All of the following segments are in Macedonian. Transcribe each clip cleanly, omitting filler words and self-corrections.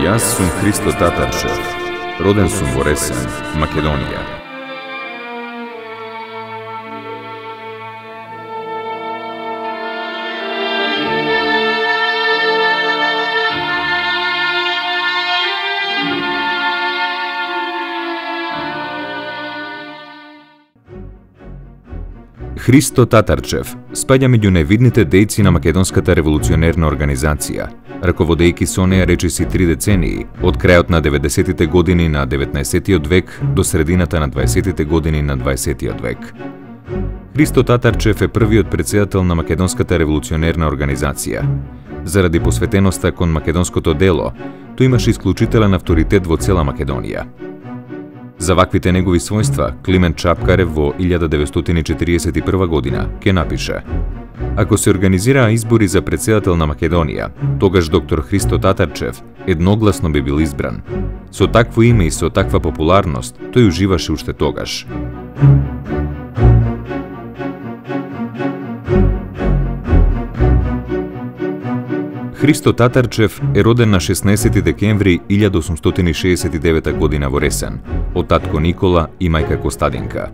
Јас сум Христо Татарчев. Роден сум во Ресен, Македонија. Христо Татарчев спаѓа меѓу највидните дејци на Македонската револуционерна организација, раководејќи со неја речиси 3 децении, од крајот на 90-тите години на 19-тиот век до средината на 20-тите години на 20-тиот век. Христо Татарчев е првиот претседател на Македонската револуционерна организација. Заради посветеноста кон македонското дело, тој имаше исклучителен авторитет во цела Македонија. За ваквите негови својства, Климент Чапкарев во 1941 година ке напише: ако се организираа избори за претседател на Македонија, тогаш доктор Христо Татарчев едногласно би бил избран. Со такво име и со таква популарност, тој уживаше уште тогаш. Христо Татарчев е роден на 16 декември 1869 година во Ресен, од татко Никола и мајка Костадинка.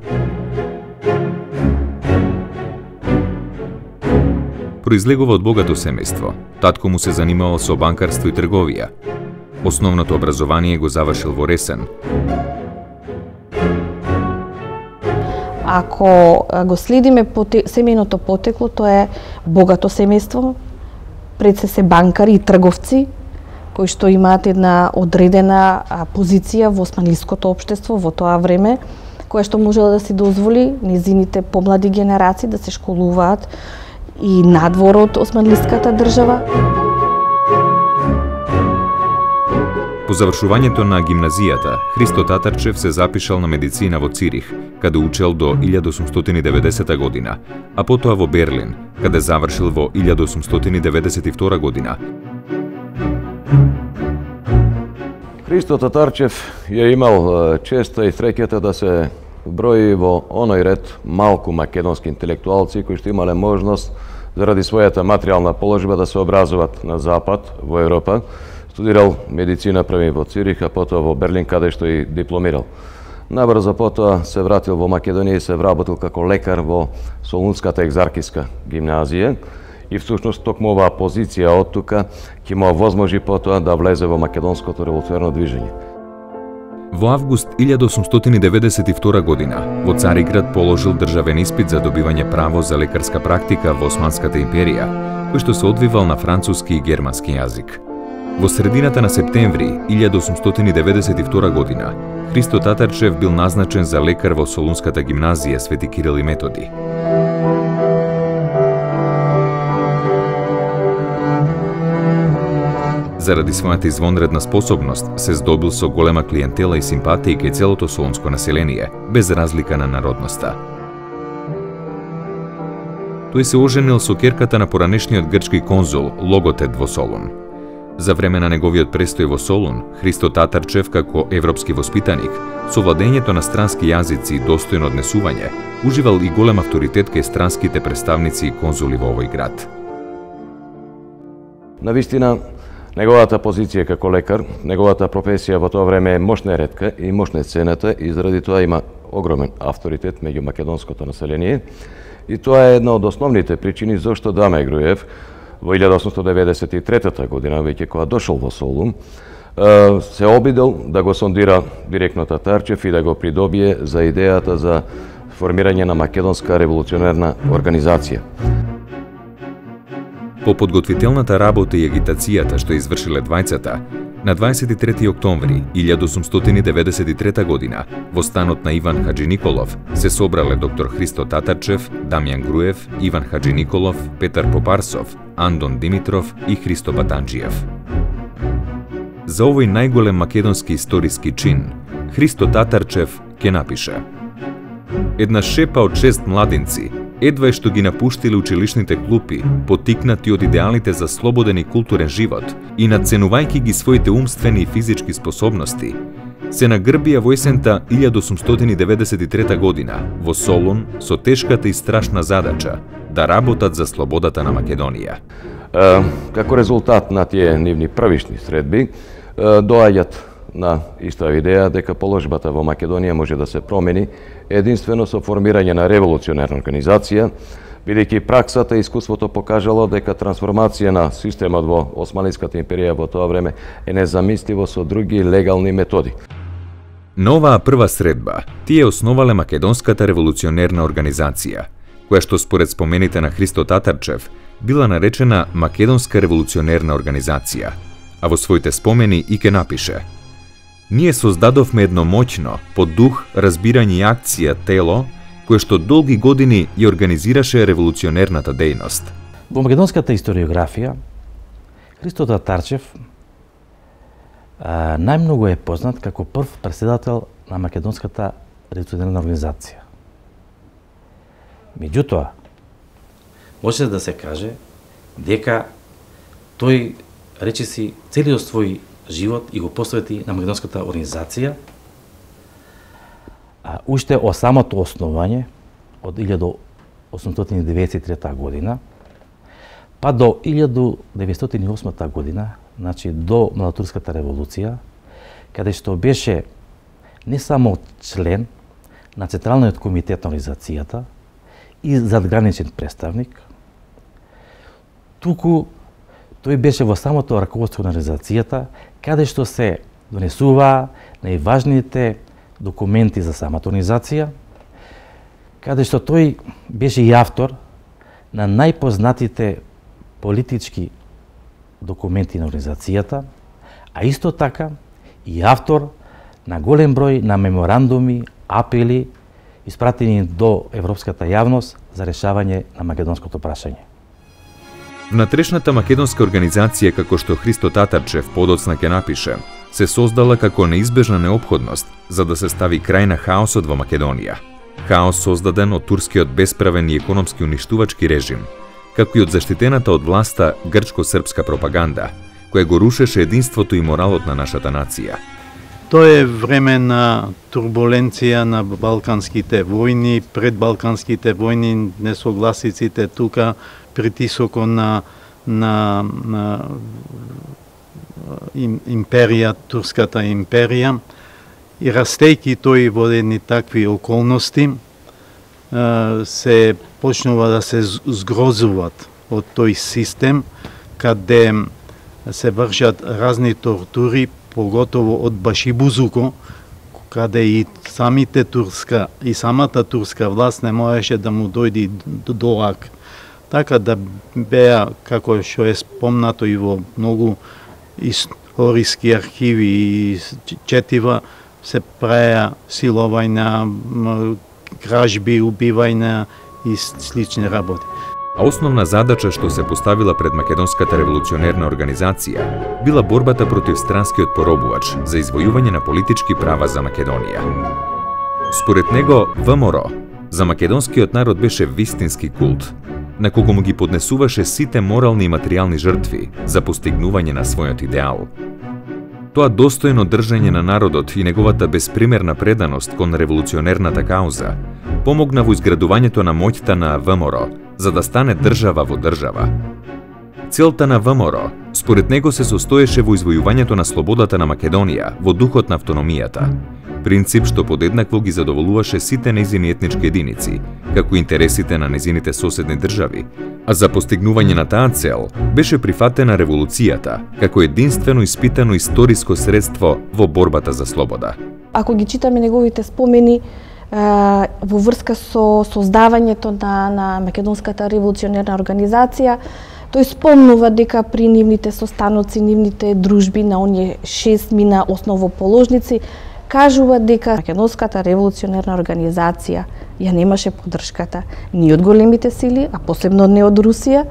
Произлегува од богато семејство. Татко му се занимавал со банкарство и трговија. Основното образование го завршил во Ресен. Ако го следиме семејното потекло, тоа е богато семејство. Пред се банкари и трговци, кои што имаат една одредена позиција во османлиското општество во тоа време, која што можела да си дозволи незините помлади генерации да се школуваат и надвор од османлиската држава. По завршувањето на гимназијата, Христо Татарчев се запишал на медицина во Цирих, каде учел до 1890 година, а потоа во Берлин, каде завршил во 1892 година. Христо Татарчев ја имал честа и среќата да се брои во оној ред малку македонски интелектуалци кои што имале можност заради својата материјална положба да се образуваат на Запад, во Европа. Студирал медицина први во Цирих, а потоа во Берлин, каде што и дипломирал. Набрзо потоа се вратил во Македонија и се вработил како лекар во Солунската екзархиска гимназија и всушност токму оваа позиција од тука ќе му овозможи потоа да влезе во македонското револуционерно движење. Во август 1892 година во Цариград положил државен испит за добивање право за лекарска практика во Османската империја, кој што се одвивал на француски и германски јазик. Во средината на септември 1892 година Христо Татарчев бил назначен за лекар во Солунската гимназија Свети Кирил и Методи. Заради својата извонредна способност се здобил со голема клиентела и симпатија кај целото солунско население, без разлика на народноста. Тој се оженил со ќерката на поранешниот грчки конзул Логотет во Солун. За време на неговиот престој во Солун, Христо Татарчев како европски воспитаник, со владењето на странски јазици и достојно однесување, уживал и голем авторитет кај странските представници и конзули во овој град. Навистина, неговата позиција како лекар, неговата професија во тоа време е мощна ретка и мощна цената и заради тоа има огромен авторитет меѓу македонското население. И тоа е една од основните причини зашто Даме Груев во 1893 година, веќе кога дошол во Солун, се обидел да го сондира директно Татарчев и да го придобие за идејата за формирање на Македонска револуционерна организација. По подготвителната работа и агитацијата што извршиле двајцата, на 23 октомври 1893 година во станот на Иван Хаджи Николов се собрале доктор Христо Татарчев, Дамјан Груев, Иван Хаджи Николов, Петар Попарсов, Андон Димитров и Христо Батанџиев. За овој најголем македонски историски чин, Христо Татарчев ке напише: една шепа од 6 младинци едва што ги напуштиле училишните клупи, потикнати од идеалите за слободен и културен живот и надценувајќи ги своите умствени и физички способности, се нагрбија во есента 1893 година во Солун со тешката и страшна задача да работат за слободата на Македонија. Како резултат на тие нивни првишни средби, доаѓаат на иста идеја дека положбата во Македонија може да се промени единствено со формирање на револуционерна организација, бидејќи праксата и искуството покажало дека трансформација на системот во Османската империја во тоа време е незамисливо со други легални методи. На оваа прва средба, тие основале Македонската револуционерна организација, која што според спомените на Христо Татарчев била наречена Македонска револуционерна организација, а во своите спомени и ке напише: "Ние создадовме едно моќно, по дух, разбирање и акција тело, кое што долги години ја организираше револуционерната дејност." Во македонската историографија, Христо Татарчев најмногу е познат како прв председател на Македонската револуционерна организација. Меѓутоа, може да се каже дека тој речиси целиот свој живот и го посвети на Македонската организација, уште од самото основање од 1893 година па до 1908 година, значи до Младотурската револуција, каде што беше не само член на Централниот комитет на организацијата и задграничен представник, туку тој беше во самото раководство на организацијата, каде што се донесуваа најважните документи за самата организација, каде што тој беше и автор на најпознатите политички документи на организацијата, а исто така и автор на голем број на меморандуми, апели, испратени до европската јавност за решавање на македонското прашање. Внатрешната македонска организација, како што Христо Татарчев подоцна ќе напише, се создала како неизбежна неопходност за да се стави крај на хаосот во Македонија. Хаос создаден од турскиот бесправен и економски уништувачки режим, како и од заштитената од власта грчко-српска пропаганда, која го рушеше единството и моралот на нашата нација. Тоа е време на турбуленција на балканските војни, пред балканските војни, несогласиците тука, притисокот на империја, турската империја, и растејќи тој во едни такви околности, се почнува да се згрозуват од тој систем, каде се вршат разни тортури, поготово од Башибузуко, каде и самата турска власт не можеше да му дојде до ак. Така да беа, како што е спомнато и во многу историски архиви и четива, се праја силовања, кражби, убивања и слични работи. А основна задача што се поставила пред Македонската револуционерна организација била борбата против странскиот поробувач за извојување на политички права за Македонија. Според него, ВМРО за македонскиот народ беше вистински култ, на кого му ги поднесуваше сите морални и материјални жртви за постигнување на својот идеал. Тоа достојно држање на народот и неговата безпримерна преданост кон револуционерната кауза помогна во изградувањето на моќта на ВМРО за да стане држава во држава. Целта на ВМРО, според него, се состоеше во извојувањето на слободата на Македонија во духот на автономијата, принцип што подеднакво ги задоволуваше сите нејзини етнички единици, како интересите на нејзините соседни држави, а за постигнување на таа цел беше прифатена револуцијата како единствено испитано историско средство во борбата за слобода. Ако ги читаме неговите спомени во врска со создавањето на Македонската револуционерна организација, тој спомнува дека при нивните состаноци, нивните дружби на оние 6 мина основоположници, кажува дека Македонската револуционерна организација ја немаше поддршката ни од големите сили, а посебно не од Русија,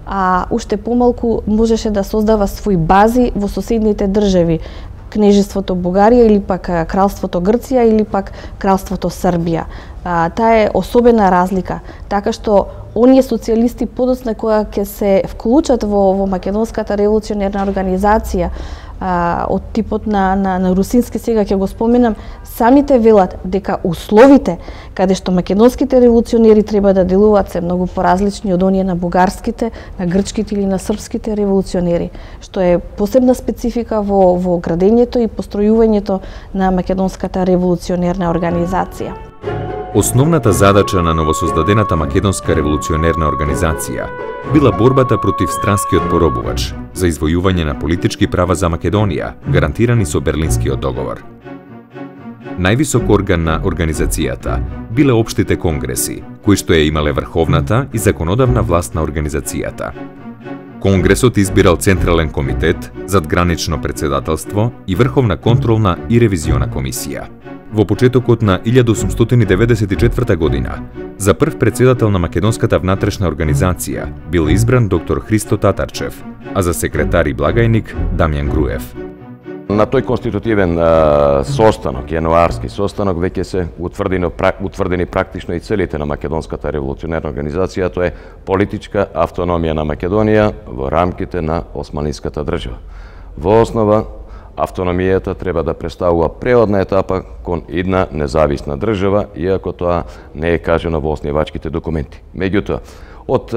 а уште помалку можеше да создава свои бази во соседните држави, Кнежеството Бугарија или пак Кралството Грција или пак Кралството Србија. Таа е особена разлика, така што оние социјалисти подоцна која ќе се вклучат во македонската револуционерна организација од типот на русински, сега ќе го споменам, самите велат дека условите каде што македонските револуционери треба да делуваат се многу поразлични од оние на бугарските, на грчките или на српските револуционери, што е посебна специфика во градењето и постројувањето на македонската револуционерна организација. Основната задача на новосоздадената македонска револуционерна организација била борбата против странскиот поробувач за извојување на политички права за Македонија, гарантирани со Берлинскиот договор. Највисок орган на организацијата биле општите конгреси, кои што ја имале врховната и законодавна власт на организацијата. Конгресот избирал Централен комитет, задгранично председателство и Врховна контролна и ревизиона комисија. Во почетокот на 1894 година, за прв председател на македонската внатрешна организација бил избран доктор Христо Татарчев, а за секретар и благајник Дамјан Груев. На тој конститутивен состанок, јануарски состанок, веќе се утврдени практично и целите на македонската револуционерна организација, тоа е политичка автономија на Македонија во рамките на османлиската држава. Во основа, автономијата треба да представува преодна етапа кон една независна држава, иако тоа не е кажано во основачките документи. Меѓутоа, од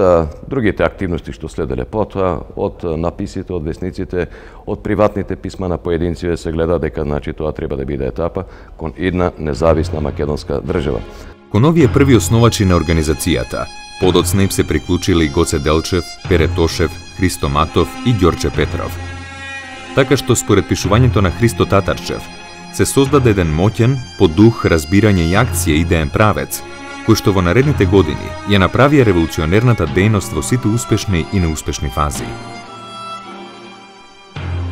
другите активности што следеле потоа, од написите, од весниците, од приватните писма на поединци се гледа дека тоа треба да биде етапа кон една независна македонска држава. Кон овие први основачи на организацијата, подоцна им се приклучиле и Гоце Делчев, Пере Тошев, Христо Матов и Ѓорче Петров. Така што според пишувањето на Христо Татарчев, се создаде еден моќен, по дух, разбирање и акција идеен правец, кој што во наредните години ја направија револуционерната дејност во сите успешни и неуспешни фази.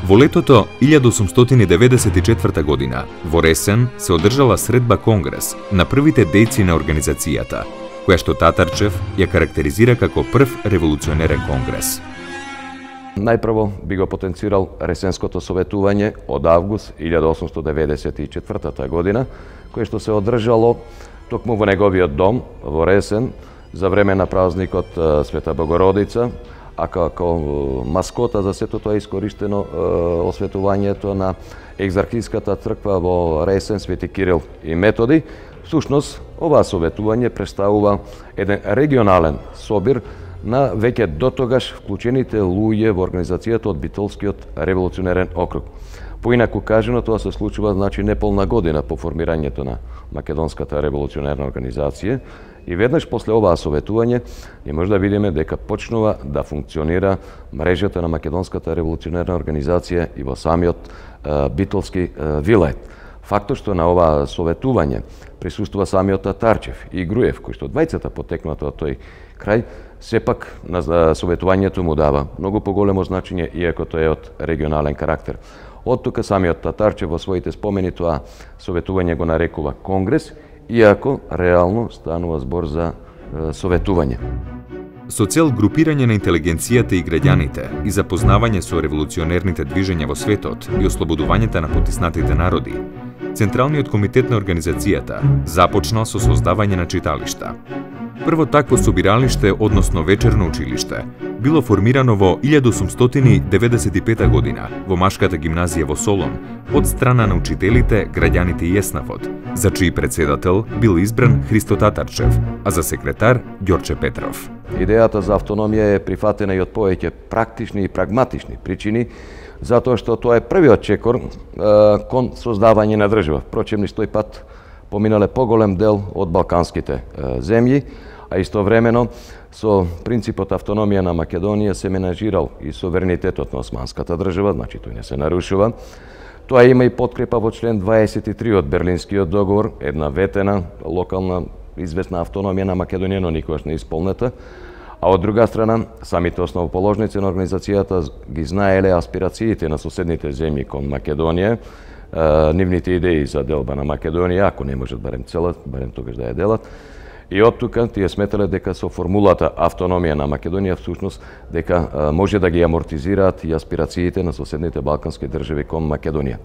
Во летото 1894 година, во Ресен, се одржала средба конгрес на првите дејци на организацијата, која што Татарчев ја карактеризира како прв револуционерен конгрес. Најпрво би го потенцирал Ресенското советување од август 1894 година, кое што се одржало токму во неговиот дом во Ресен за време на празникот Света Богородица, а како маскота за сето тоа искористено осветувањето на екзархиската црква во Ресен Свети Кирил и Методи. Всушност, ова советување представува еден регионален собир на веќе дотогаш вклучените луѓе во организацијата од Битолскиот револуционерен округ. Поинаку кажено, тоа се случува неполна година по формирањето на македонската револуционерна организација и веднаш после оваа советување ние може да видиме дека почнува да функционира мрежата на македонската револуционерна организација и во самиот Битолски вилајет. Фактот што на ова советување присуствува самиот Татарчев и Груев, кои што двајцата потекнат од тој крај, сепак на советувањето му дава многу поголемо значење, иако тоа е од регионален карактер. Од тука самиот Татарчев во своите спомени тоа советување го нарекува конгрес, иако реално станува збор за советување. Со цел групирање на интелигенцијата и граѓаните и запознавање со револуционерните движења во светот и ослободувањето на потиснатите народи, Централниот комитет на организацијата започнал со создавање на читалишта. Прво такво собиралиште, односно вечерно училиште, било формирано во 1895 година во Машката гимназија во Солун од страна на учителите, граѓаните и еснафот, за чиј председател бил избран Христо Татарчев, а за секретар Ѓорче Петров. Идејата за автономија е прифатена и од повеќе практични и прагматични причини, затоа што тоа е првиот чекор кон создавање на држава. Впрочем, низ тој пат поминале поголем дел од балканските земји, а истовремено со принципот автономија на Македонија се менажирал и суверенитетот на османската држава, значи тој не се нарушува. Тоа има и подкрепа во член 23 од Берлинскиот договор, една ветена локална известна автономија на Македонија, но никогаш не исполнета. А од друга страна, самите основоположници на организацијата ги знаеле аспирациите на соседните земји кон Македонија, нивните идеи за делба на Македонија, ако не можат барем целат, барем тогаш да ја делат. И од тука тие сметале дека со формулата автономија на Македонија всушност дека може да ги амортизираат и аспирациите на соседните балкански држави кон Македонија.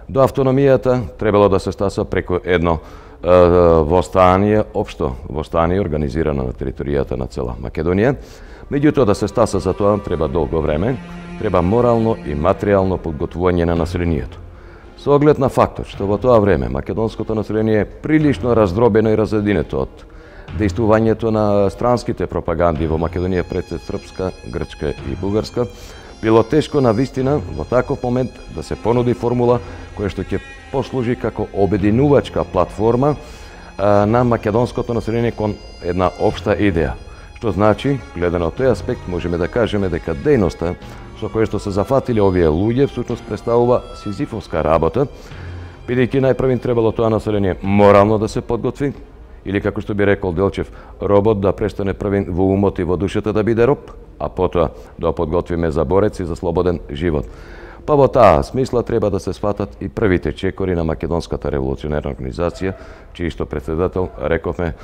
До автономијата требало да се стаса преку едно востание, општо востание организирано на територијата на цела Македонија. Меѓутоа да се стаса за тоа треба долго време, треба морално и материјално подготвување на населението. Со оглед на фактот што во тоа време македонското население е прилично раздробено и разединето од дејствувањето на странските пропаганди во Македонија пред српска, грчка и бугарска, било тешко на вистина во таков момент да се понуди формула која што ќе послужи како обединувачка платформа на македонското население кон една општа идеја. Што значи, гледано од тој аспект, можеме да кажеме дека дејноста со која што се зафатиле овие луѓе всушност представува сизифовска работа, бидејќи најпрвин требало тоа население морално да се подготви, или како што би рекол Делчев, робот да престане првин во умот и во душата да биде роб, а потоа да подготвиме за борец и за слободен живот. Па во таа смисла треба да се сватат и првите чекори на Македонската револуционерна организација, чиј што председател, рековме,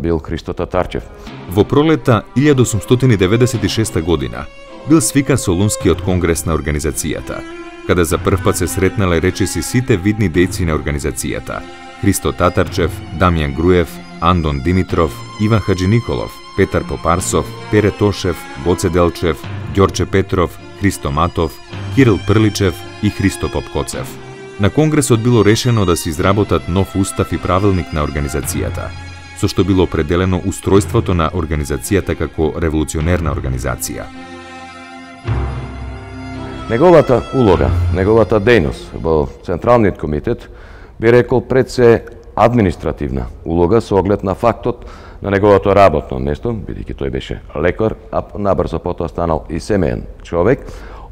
бил Христо Татарчев. Во пролета 1896 година бил свикан Солунскиот конгрес на организацијата, каде за прв пат се сретнале речиси сите видни дејци на организацијата: Христо Татарчев, Дамјан Груев, Андон Димитров, Иван Хаджиниколов, Петар Попарсов, Пере Тошев, Гоце Делчев, Ѓорче Петров, Христо Матов, Кирил Прличев и Христо Попкоцев. На конгресот било решено да се изработат нов устав и правилник на организацијата, со што било определено устројството на организацијата како револуционерна организација. Неговата улога, неговата дејност во Централниот комитет би рекол пред се административна улога со оглед на фактот на неговото работно место, бидејќи тој беше лекар, а набрзо потоа станал и семеен човек.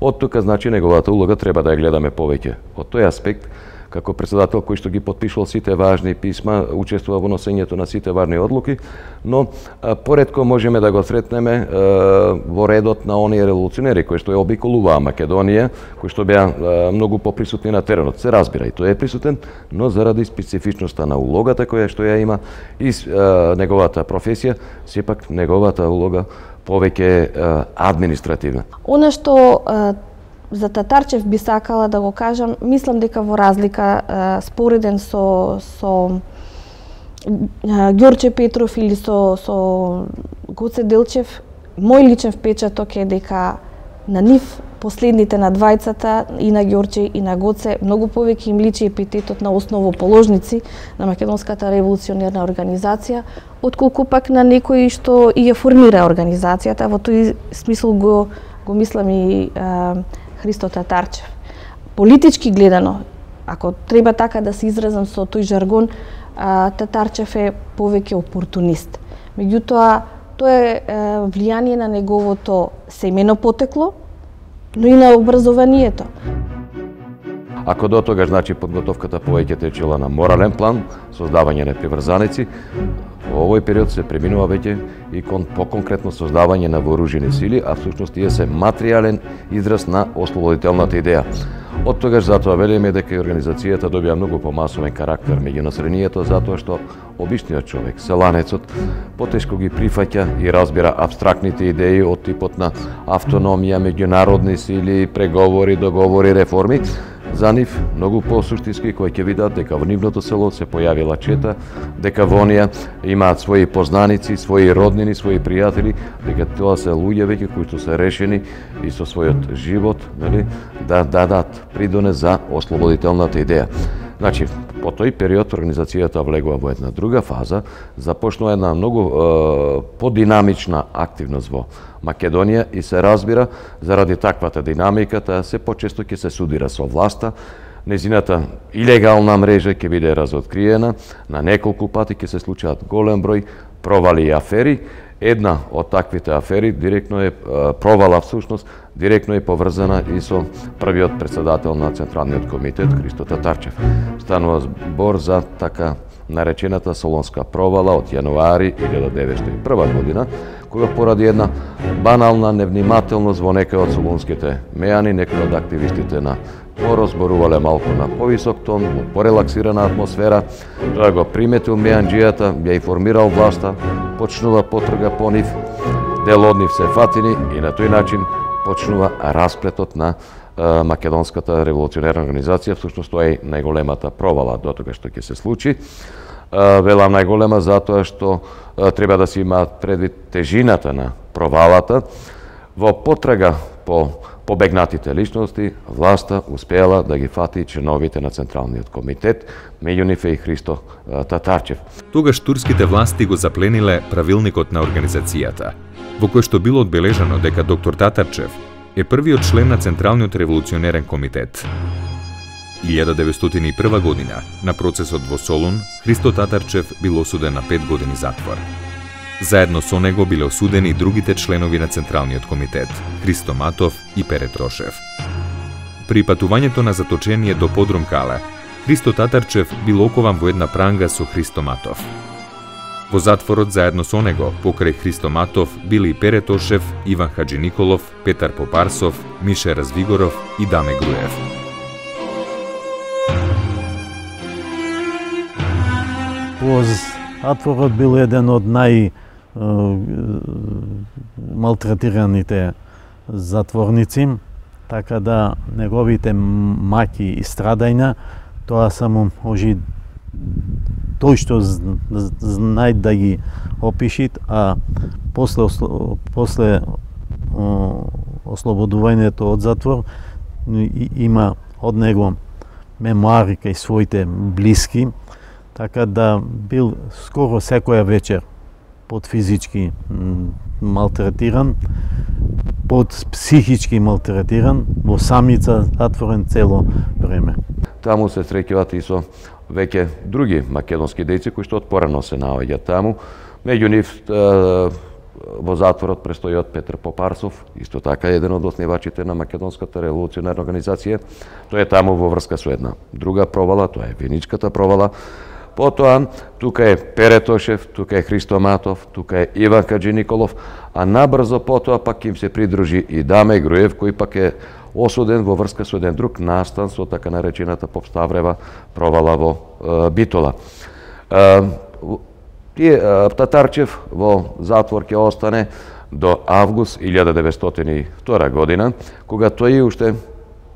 Од тука, значи, неговата улога треба да ја гледаме повеќе од тој аспект, како председател кој што ги потпишувал сите важни писма, учествува во носењето на сите важни одлуки, но поредко можеме да го сретнеме во редот на оние револуционери кои што ја обиколуваа Македонија, кои што беа многу поприсутни на теренот. Се разбира, и тој е присутен, но заради специфичноста на улогата која што ја има и неговата професија, сепак неговата улога повеќе административна. Она што за Татарчев би сакала да го кажам, мислам дека во разлика спореден со Ѓорче Петров или со Гоце Делчев, мој личен впечаток е дека на нив последните на двајцата, и на Ѓорче и на Гоце, многу повеќе им личи епитетот на основоположници на Македонската револуционерна организација, отколку пак на некои што и ја формира организацијата. Во тој смисол го мислам и Христо Татарчев. Политички гледано, ако треба така да се изразам со тој жаргон, Татарчев е повеќе опортунист. Меѓутоа, тоа е влијание на неговото семено потекло, но и на образованието. Ако до тогаш, значи, подготовката повеќе течела на морален план, создавање на приврзаници, во овој период се преминува веќе и поконкретно создавање на вооружени сили, а всушност тие се материјален израз на ослободителната идеја. Од тогаш затоа велиме дека организацијата добија многу помасовен карактер меѓу населението, затоа што обичниот човек, селанецот, потешко ги прифаќа и разбира апстрактните идеи од типот на автономија, меѓународни сили, преговори, договори, реформи. За нив многу посуштински, кои ќе видат дека во нивното село се појавила чета, дека во онија имаат своји познаници, своји роднини, своји пријатели, дека тоа се луѓе веќе кои што се решени и со својот живот, нели, да дадат придонес за ослободителната идеја. Значи, по тој период организацијата влегува во една друга фаза, започнува една многу подинамична активност во Македонија и се разбира, заради таквата динамика, таа се почесто ќе се судира со власта, незината илегална мрежа ќе биде разоткриена, на неколку пати ќе се случаат голем број провали и афери. Една од таквите афери директно е провала всушност, директно е поврзана и со првиот председател на Централниот комитет Христо Татарчев. Станува збор за така наречената Солонска провала од јануари 1901 година, која поради една банална невнимателност во некои од солунските мејани, некои од активистите на ПОРО зборувале малку на повисок тон, во порелаксирана атмосфера. Тоа го приметил мејанџијата, ја информирал власта, почнува потрага по нив, дел од нив се фатини и на тој начин почнува расплетот на македонската револуционерна организација. Всушност тоа е најголемата провала до тога што ќе се случи. Велам најголема затоа што треба да се има предвид тежината на провалата. Во потрага по побегнатите личности, власта успеала да ги фати членовите на Централниот комитет, меѓу нив и Христо Татарчев. Тогаш турските власти го заплениле правилникот на организацијата, во кој што било одбележано дека доктор Татарчев е првиот член на Централниот револуционерен комитет. 1901 година, на процесот во Солун, Христо Татарчев бил осуден на 5 години затвор. Заедно со него биле осудени и другите членови на Централниот комитет, Христо Матов и Пере Трошев. При патувањето на заточение до Подрум Кале, Христо Татарчев бил окован во една пранга со Христо Матов. Во затворот заедно со него, покрај Христо Матов, били и Пере Тошев, Иван Хаджиниколов, Петар Попарсов, Мише Развигоров и Даме Груев. Затворот бил еден од малтретираните затворници, така да неговите маки и страдања, тоа само може тој што знае да ги опишит, а после ослободувањето од затвор има од него мемуари кај своите блиски, така да бил скоро секоја вечер под физички малтретиран, под психички малтретиран, во самица затворен цело време. Таму се среќават и со веќе други македонски дејци кои што отпорано се наоѓаат таму. Меѓу нив во затворот престојот Петар Попарсов, исто така еден од основачите на Македонската револуционерна организација. Тој е таму во врска со една друга провала, тоа е Виничката провала. Потоа, тука е Пере Тошев, тука е Христо Матов, тука е Иван Хаджиниколов, а набрзо потоа пак им се придружи и Даме Груев, кој пак е осуден во врска со еден друг настан со така наречената Попставрева провала во Битола. Татарчев во затвор ќе остане до август 1902 година, кога тој уште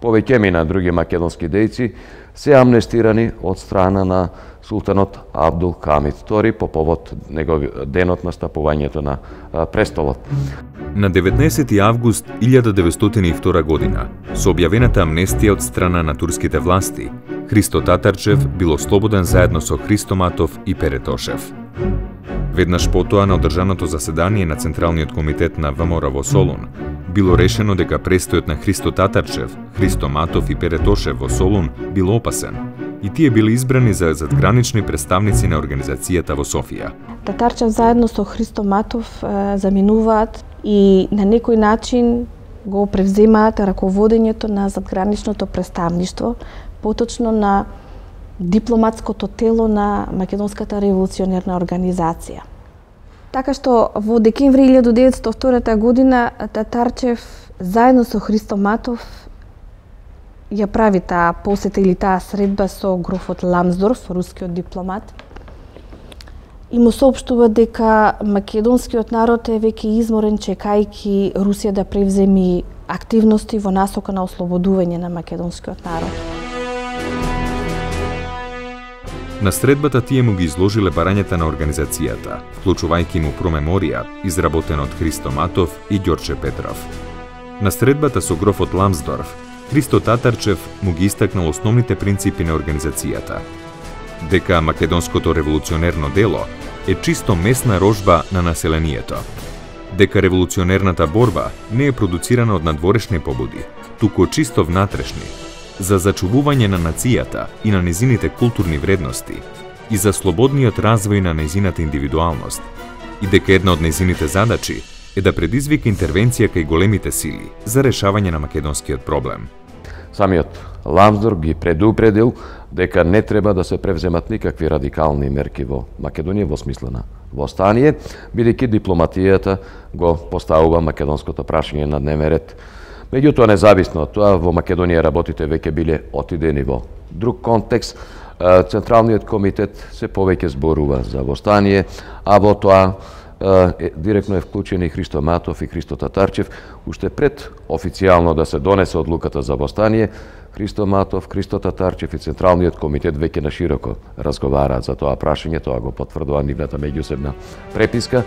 повеќе мина други македонски дејци се амнестирани од страна на султанот Абдул Хамид II по повод денот на стапувањето на престолот. На 19 август 1902 година, со објавената амнестија од страна на турските власти, Христо Татарчев бил ослободен заедно со Христо Матов и Пере Тошев. Веднаш потоа на одржаното заседание на Централниот комитет на ВМРО во Солун, било решено дека престојот на Христо Татарчев, Христо Матов и Пере Тошев во Солун бил опасен и тие били избрани за задгранични представници на организацијата во Софија. Татарчев заедно со Христо Матов заминуваат и на некој начин го превземаат раководењето на задграничното представништво, поточно на дипломатското тело на Македонската револуционерна организација. Така што во декември 1902 година Татарчев заедно со Христо Матов ја прави таа посета или таа средба со грофот Ламсдорф, рускиот дипломат, и му соопштува дека македонскиот народ е веќе изморен чекајќи Русија да превземи активности во насока на ослободување на македонскиот народ. На средбата тие му ги изложиле барањата на организацијата, вклучувајќи му промеморија, изработена од Христо Матов и Ѓорче Петров. На средбата со грофот Ламсдорф, Христо Татарчев му ги истакнал основните принципи на организацијата. Дека македонското револуционерно дело е чисто месна рожба на населението. Дека револуционерната борба не е продуцирана од надворешни побуди, туку чисто внатрешни, за зачувување на нацијата и на незините културни вредности и за слободниот развој на незината индивидуалност, и дека една од незините задачи е да предизвика интервенција кај големите сили за решавање на македонскиот проблем. Самиот Ламсдорф ги предупредил дека не треба да се превземат никакви радикални мерки во Македонија во смисла на востание, бидејќи дипломатијата го поставува македонското прашање на дневен ред. Меѓутоа, независно од тоа, во Македонија работите веќе биле отидени во друг контекст. Централниот комитет се повеќе зборува за востание, а во тоа директно е вклучен и Христо Матов и Христо Татарчев, уште пред официјално да се донесе одлуката за востание. Христо Матов, Христо Татарчев и Централниот комитет веќе на широко разговараат за тоа прашање, тоа го потврдува нивната меѓусебна преписка.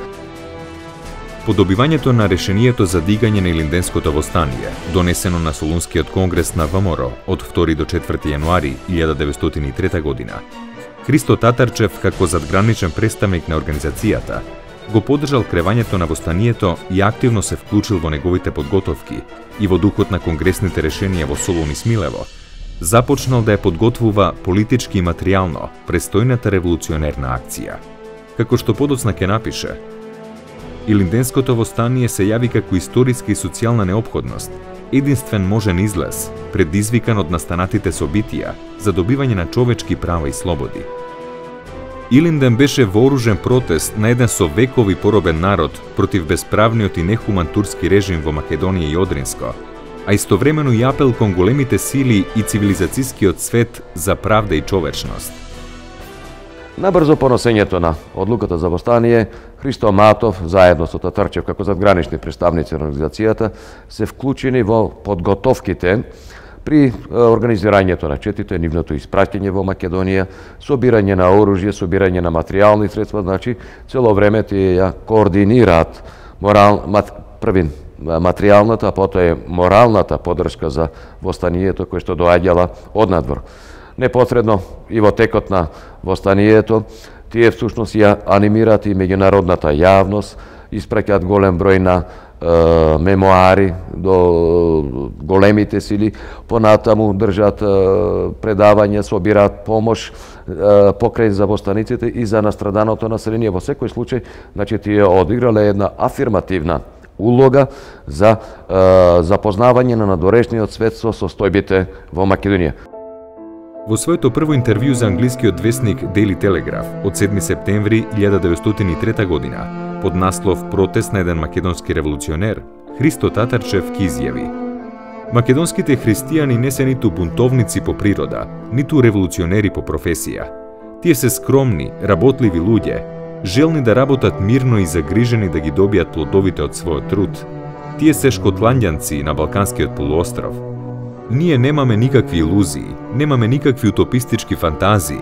По добивањето на решението за дигање на Илинденското востание, донесено на Солунскиот конгрес на ВМРО од 2 до 4 јануари 1903 година, Христо Татарчев, како задграничен представник на организацијата, го поддржал кревањето на востанието и активно се вклучил во неговите подготовки и во духот на конгресните решенија во Солун и Смилево, започнал да ја подготвува политички и материјално престојната револуционерна акција. Како што подоцна ќе напише, Илинденското востание се јави како историска и социјална неопходност, единствен можен излез, предизвикан од настанатите собитија за добивање на човечки права и слободи. Илинден беше вооружен протест на еден со векови поробен народ против бесправниот и нехуман турски режим во Македонија и Одринско, а истовремено и апел кон големите сили и цивилизацијскиот свет за правда и човечност. Набрзо по носењето на одлуката за востание, Христо Матов, заедно со Татарчев како задгранични представници на организацијата, се вклучени во подготовките при организирањето на четите, нивното испраќање во Македонија, собирање на оружје, собирање на материјални средства, значи цело време тие ја координираат првин материјалната, а потоа моралната поддршка за востанието кој што доаѓала однадвор. Непосредно и во текот на востанието, тие всушност ја анимираат и меѓународната јавност, испраќаат голем број на мемоари до големите сили, понатаму држат предавања, собираат помош покрај за востаниците и за настраданото население. Во секој случај, значи тие одиграле една афирмативна улога за запознавање на надворешниот свет со состојбите во Македонија. Во своето прво интервју за англискиот весник Daily Telegraph од 7 септември 1903 година, под наслов «Протест на еден македонски револуционер», Христо Татарчев ки изјави: «Македонските христијани не се ниту бунтовници по природа, ниту револуционери по професија. Тие се скромни, работливи луѓе, желни да работат мирно и загрижени да ги добијат плодовите од својот труд. Тие се шкотландјанци на Балканскиот полуостров. Ние немаме никакви илузии, немаме никакви утопистички фантазии,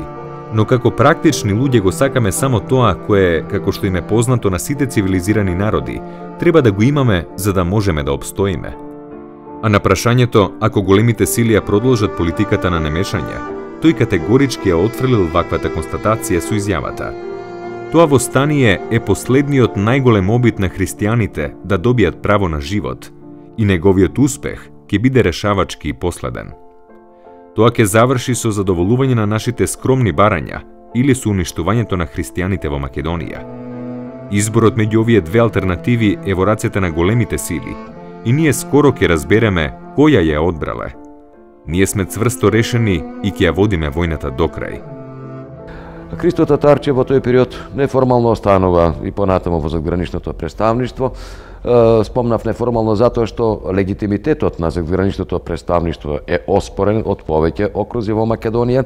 но како практични луѓе го сакаме само тоа кое, како што им е познато на сите цивилизирани народи, треба да го имаме за да можеме да обстоиме». А на прашањето, ако големите сили ја продолжат политиката на немешање, тој категорички ја отфрлил ваквата констатација со изјавата: «Тоа востание е последниот најголем обид на христијаните да добијат право на живот и неговиот успех ќе биде решавачки и последен. Тоа ќе заврши со задоволување на нашите скромни барања или со уништувањето на христијаните во Македонија. Изборот меѓу овие две алтернативи е во рацете на големите сили и ние скоро ќе разбереме која ја одбрале. Ние сме цврсто решени и ќе ја водиме војната до крај». Христо Татарчев во тој период неформално останува и понатаму во задграничното представништво. Спомнав неформално затоа што легитимитетот на задграничното представништво е оспорен од повеќе окрузи во Македонија.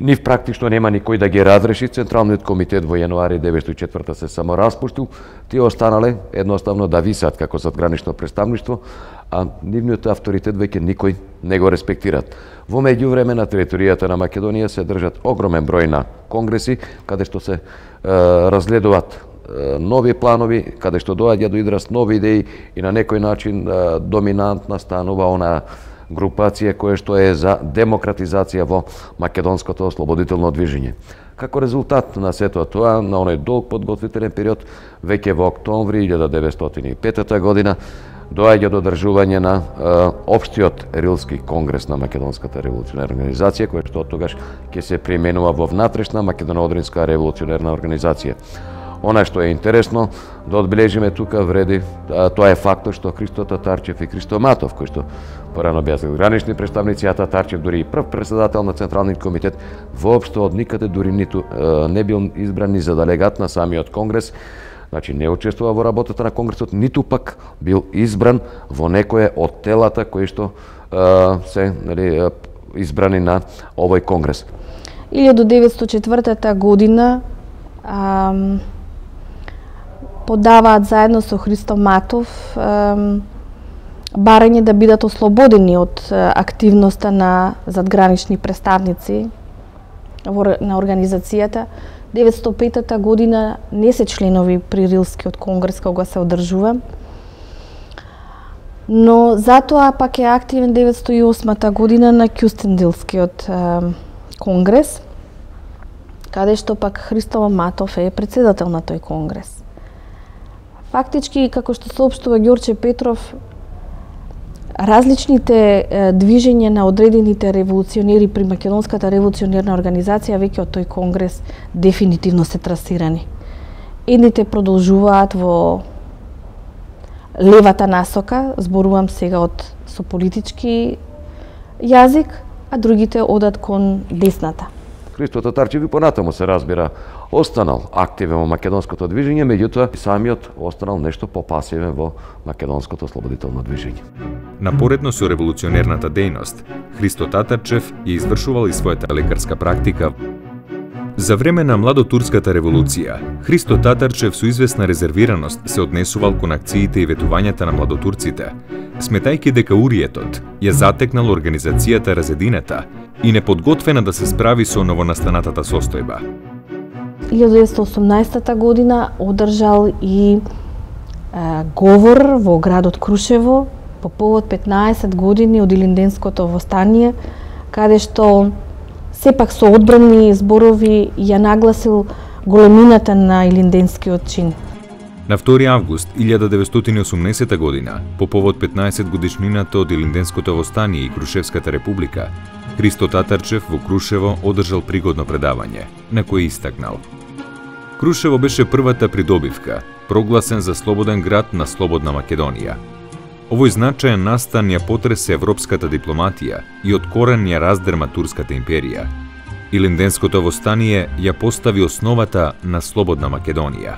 Нив практично нема никој да ги разреши. Централниот комитет во јануари 1904 се само распуштил. Тие останале едноставно да висат како задгранично представништво, а нивниот авторитет веќе никој не го респектираат. Во меѓувреме на територијата на Македонија се држат огромен број на конгреси, каде што се разгледуваат нови планови, каде што доаѓа до израз нови идеи и на некој начин доминантна станува она групација која што е за демократизација во македонското ослободително движење. Како резултат на сето тоа, на оној долг подготвителен период, веќе во октомври 1905 година доаѓа до одржување на Општиот Рилски конгрес на Македонската револуционерна организација, кој што тогаш ќе се применува во внатрешна Македоно-Одринска револуционерна организација. Она што е интересно да одбележиме тука вреди, тоа е фактот што Христо Татарчев и Христо Матов, кои што порано беа гранични представници, а Татарчев дури и прв председател на Централниот комитет, воопшто од никаде дури ниту не бил избран ни за делегат на самиот конгрес, значи не учествува во работата на конгресот, ниту пак бил избран во некое од телата кои што се избрани на овој конгрес. 1904 година подаваат заедно со Христо Матов барање да бидат ослободени од активноста на задгранични представници на организацијата. 905 година не се членови при Рилскиот конгрес кога се одржува, но затоа пак е активен 908 година на Кюстендилскиот конгрес, каде што пак Христо Матов е председател на тој конгрес. Фактички, како што соопштува Ѓорче Петров, различните движења на одредените револуционери при Македонската револуционерна организација веќе од тој конгрес дефинитивно се трасирани. Едните продолжуваат во левата насока, зборувам сега со политички јазик, а другите одат кон десната. Христо Татарчев и понатаму се разбира останал активен во македонското движење, меѓутоа самиот останал нешто попасивен во македонското ослободително движење. Напоредно со револуционерната дејност, Христо Татарчев ја извршувал и својата лекарска практика. За време на младотурската револуција, Христо Татарчев со известна резервираност се однесувал кон акциите и ветувањата на младотурците, сметајќи дека уриетот ја затекнал организацијата разединета и неподготвена да се справи со новонастанатата состојба. 1918 година одржал и говор во градот Крушево по повод 15 години од Илинденското востание, каде што сепак со одбрани зборови ја нагласил големината на Илинденскиот чин. На 2 август 1918 година, по повод 15 годишнината од Илинденското востание и Крушевската република, Христо Татарчев во Крушево одржал пригодно предавање, на кое истакнал: Крушево беше првата придобивка, прогласен за слободен град на слободна Македонија. Овој значаен настан ја потресе европската дипломатија и од корен ја раздерма Турската империја. Илинденското востание ја постави основата на слободна Македонија.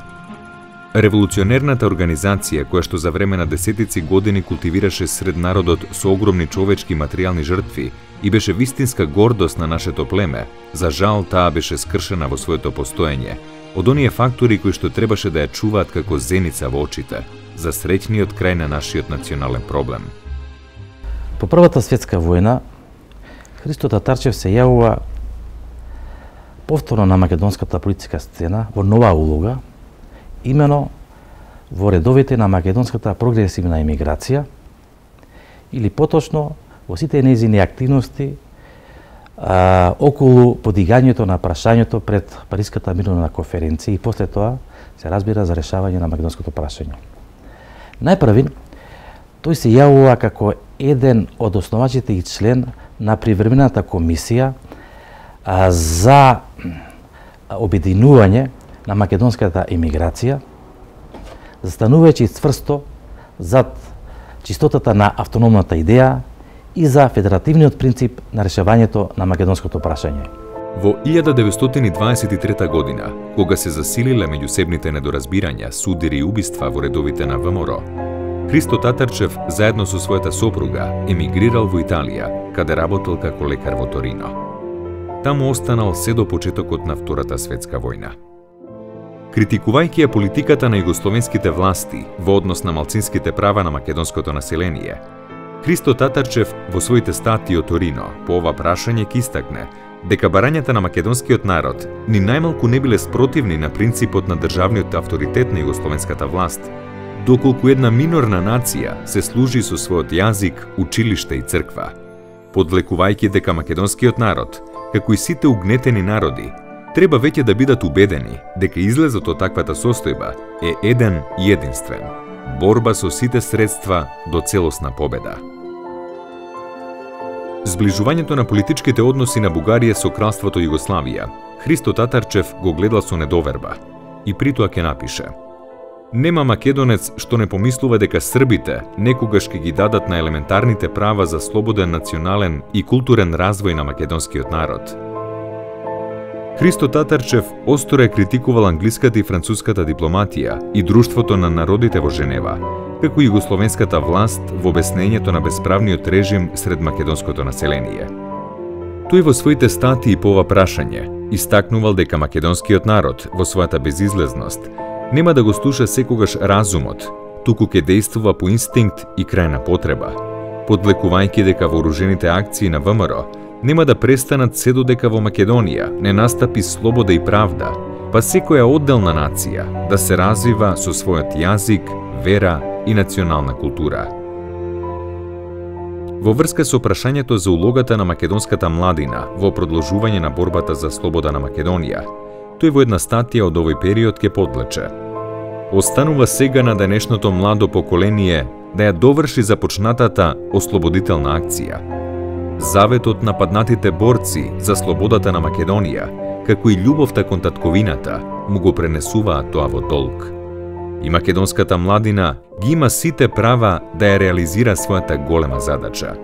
Револуционерната организација, која што за време на десетици години култивираше сред народот со огромни човечки и материјални жртви и беше вистинска гордост на нашето племе, за жал таа беше скршена во своето постоење од оние фактори кои што требаше да ја чуваат како зеница во очите за среќниот крај на нашиот национален проблем. По Првата светска војна, Христо Татарчев се јавува повторно на македонската политичка сцена во нова улога, имено во редовите на македонската прогресивна емиграција, или поточно во сите нејзини активности околу подигањето на прашањето пред Париската мировна конференција и после тоа се разбира за решавање на македонското прашање. Најпрви, тој се јавува како еден од основачите и член на привремената комисија за обединување на македонската емиграција, застанувајќи цврсто зад чистотата на автономната идеја и за федеративниот принцип на решавањето на македонското прашање. Во 1923 година, кога се засилиле меѓусебните недоразбирања, судири и убиства во редовите на ВМРО, Христо Татарчев заедно со својата сопруга емигрирал во Италија, каде работел како лекар во Торино. Таму останал се до почетокот на Втората светска војна. Критикувајќи ја политиката на југословенските власти во однос на малцинските права на македонското население, Христо Татарчев во своите статии од Торино по ова прашање ќе истакне дека барањата на македонскиот народ ни најмалку не биле спротивни на принципот на државниот авторитет на југословенската власт, доколку една минорна нација се служи со својот јазик, училиште и црква, подвлекувајќи дека македонскиот народ, како и сите угнетени народи, треба веќе да бидат убедени дека излезот од таквата состојба е еден и единствен – борба со сите средства до целосна победа. Зближувањето на политичките односи на Бугарија со кралството Југославија, Христо Татарчев го гледал со недоверба и притоа ќе напише: Нема македонец што не помислува дека србите некогаш ќе ги дадат на елементарните права за слободен национален и културен развој на македонскиот народ. Христо Татарчев остро е критикувал англиската и француската дипломатија и друштвото на народите во Женева, како и југословенската власт во обяснењето на бесправниот режим сред македонското население. Тој во своите статии по ова прашање истакнувал дека македонскиот народ во својата безизлезност Нема да го слуша секогаш разумот, туку ке действува по инстинкт и крајна потреба, подлекувајќи дека вооружените акции на ВМРО нема да престанат се додека во Македонија не настапи слобода и правда, па секоја одделна нација да се развива со својот јазик, вера и национална култура. Во врска со прашањето за улогата на македонската младина во продолжување на борбата за слобода на Македонија, тој во една статија од овој период ке подлече: останува сега на денешното младо поколение да ја доврши започнатата ослободителна акција. Заветот на паднатите борци за слободата на Македонија, како и љубовта кон татковината, му го пренесуваат тоа во долг. И македонската младина ги има сите права да ја реализира својата голема задача.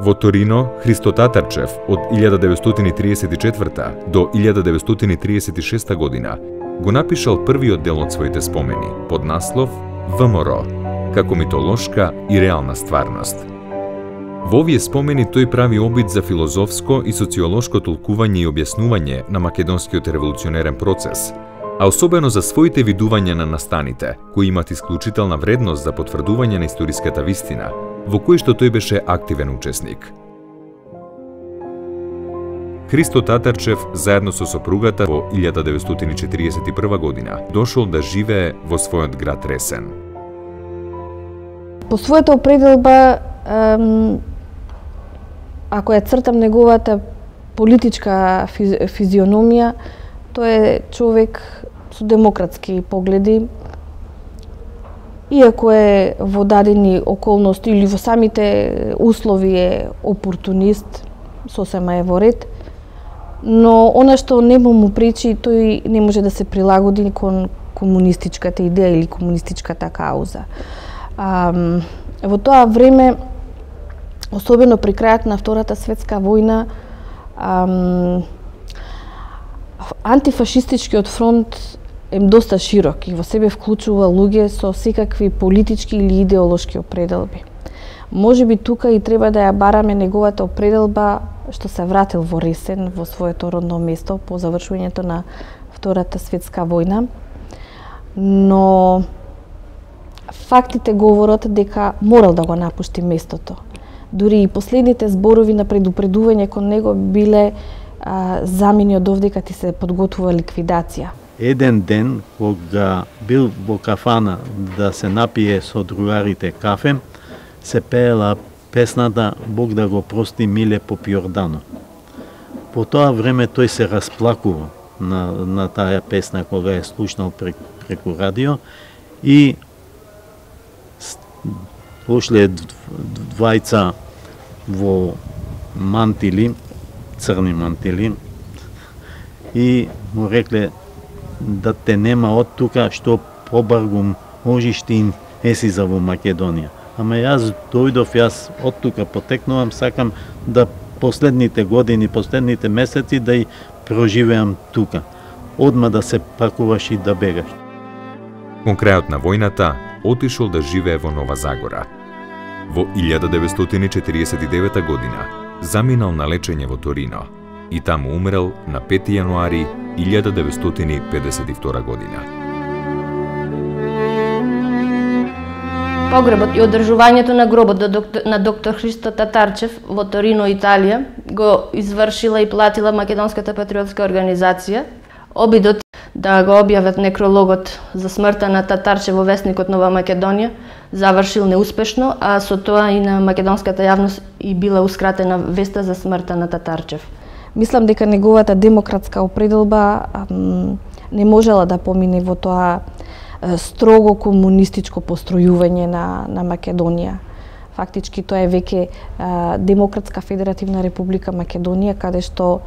Во Торино, Христо Татарчев од 1934 до 1936 година го напишал првиот дел од своите спомени под наслов ВМРО, како митолошка и реална стварност. Во овие спомени тој прави обид за филозофско и социолошко толкување и објаснување на македонскиот револуционерен процес, а особено за своите видувања на настаните, кои имат исклучителна вредност за потврдување на историската вистина, во кој што тој беше активен учесник. Христо Татарчев заедно со сопругата во 1941 година дошол да живее во својот град Ресен. По својата определба, ако ја цртам неговата политичка физиономија, тој е човек со демократски погледи, иако е во дадени околности или во самите услови е опортунист, сосема е во ред, но она што не му пречи, тој не може да се прилагоди кон комунистичката идеја или комунистичката кауза. Во тоа време, особено при крајот на Втората светска војна, антифашистичкиот фронт е доста широк и во себе вклучува луѓе со секакви политички или идеолошки определби. Можеби тука и треба да ја бараме неговата определба што се вратил во Ресен, во своето родно место по завршувањето на Втората светска војна, но фактите говорат дека морал да го напушти местото. Дури и последните зборови на предупредување кон него биле замени од овдека ти се подготвува ликвидација. Еден ден, кога бил во кафана да се напие со другарите кафе, се пеела песната Бог да го прости Миле Попјордано. По тоа време тој се расплакува на таа песна кога е слушнал преку радио и дошле двајца во мантили, црни мантили, и му рекле да те нема од тука, што побаргу можеш ти еси за во Македонија. Ама јас дојдов, јас од тука потекнувам, сакам да последните години, последните месеци да и проживеам тука. Одма да се пакуваш и да бегаш. Кон крајот на војната, отишол да живее во Нова Загора. Во 1949 година заминал на лечење во Торино и таму умрел на 5 јануари 1952 година. Погребот и одржувањето на гробот на доктор Христо Татарчев во Торино, Италија, го извршила и платила Македонската патриотска организација. Обидот да го објават некрологот за смртта на Татарчев во весникот Нова Македонија завршил неуспешно, а со тоа и на македонската јавност и била ускратена веста за смртта на Татарчев. Мислам дека неговата демократска определба не можела да помине во тоа строго комунистичко постројување на Македонија. Фактички тоа е веќе Демократска федеративна република Македонија, каде што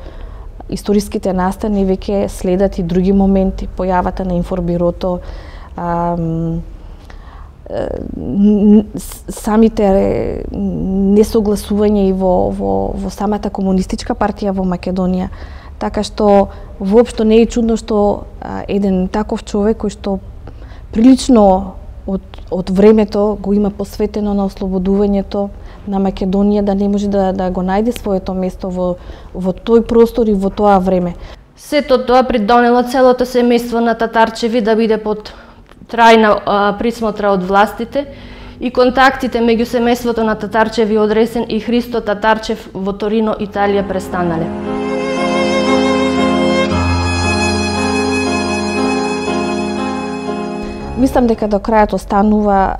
историските настани веќе следат и други моменти, појавата на информбирото, самите несогласување и во самата комунистичка партија во Македонија. Така што воопшто не е чудно што еден таков човек кој што прилично од времето го има посветено на ослободувањето на Македонија, да не може да го најде своето место во тој простор и во тоа време. Сето тоа придонело целото семејство на Татарчеви да биде под трајна присмотра од властите и контактите меѓу семејството на Татарчеви од Ресен и Христо Татарчев во Торино, Италија престанале. Мислам дека до крајот останува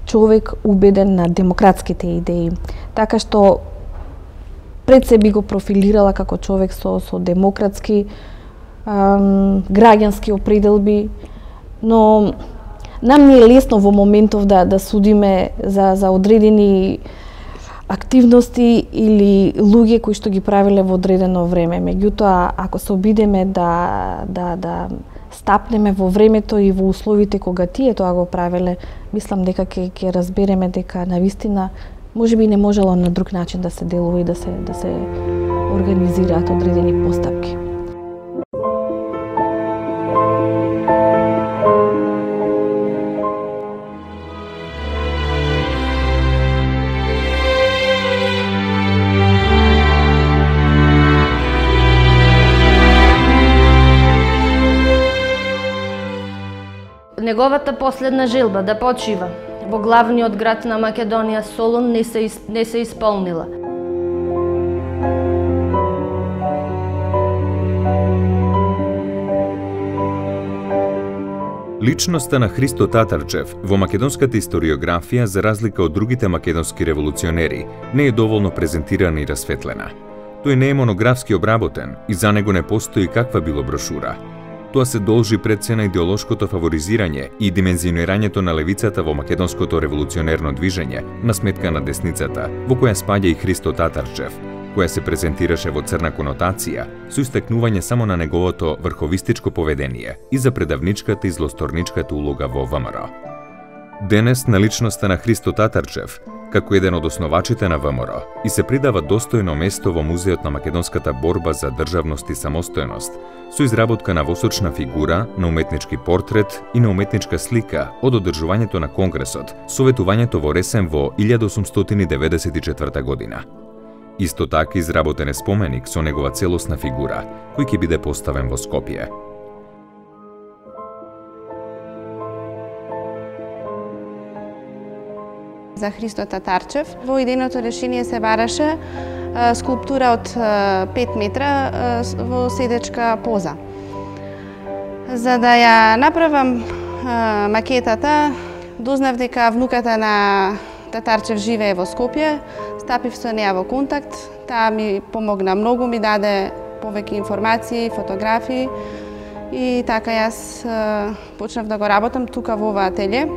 човек убеден на демократските идеи, така што пред се би го профилирала како човек со демократски граѓански определби, но нам не е лесно во моментов да судиме за одредени активности или луѓе кои што ги правиле во одредено време. Меѓутоа, ако се обидеме да стапнеме во времето и во условите кога тие тоа го правеле, мислам дека ќе разбереме дека навистина можеби не можело на друг начин да се делува и да се организираат одредени постапки. Неговата последна желба да почива во главниот град на Македонија Солун не се исполнила. Личноста на Христо Татарчев во македонската историографија, за разлика од другите македонски револуционери, не е доволно презентирана и расветлена. Тој не е монографски обработен и за него не постои каква било брошура. Тоа се должи пред се на идеолошкото фаворизирање и димензионирањето на левицата во македонското револуционерно движење на сметка на десницата, во која спаѓа и Христо Татарчев, која се презентираше во црна конотација, со истакнување само на неговото врховистичко поведение и за предавничката и злосторничката улога во ВМРО. Денес на личноста на Христо Татарчев, како еден од основачите на ВМРО, и се придава достојно место во Музеот на македонската борба за државност и самостојност, со изработка на восочна фигура, на уметнички портрет и на уметничка слика од одржувањето на Конгресот, советувањето во Ресен во 1894 година. Исто така изработен е споменик со негова целосна фигура, кој ќе биде поставен во Скопје. За Христо Татарчев во идејното решение се бараше скулптура од 5 метра во седечка поза. За да ја направам макетата, дознав дека внуката на Татарчев живее во Скопје, стапив со неа во контакт, таа ми помогна многу, ми даде повеќе информации, фотографии и така јас почнав да го работам тука во ова ателје.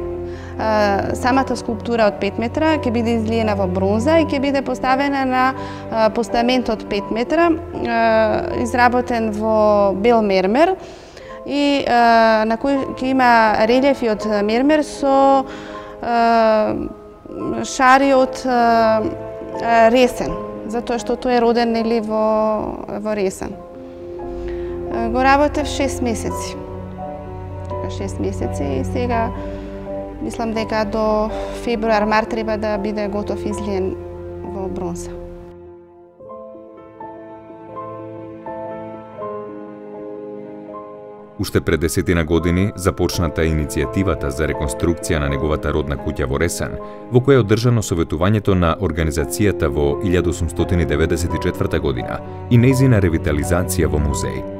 Самата скулптура од 5 метра ќе биде излиена во бронза и ќе биде поставена на постамент од 5 метра, изработен во бел мермер и на кој ќе има релјефи од мермер со шари од Ресен, затоа што тој е роден нели во Ресен. Го работев 6 месеци. 6 месеци и сега мислам дека до февруар-март треба да биде готов излиен во бронза. Уште пред 10 години започната иницијативата за реконструкција на неговата родна куќа во Ресен, во која е одржано советувањето на организацијата во 1894 година и нејзина ревитализација во музеј.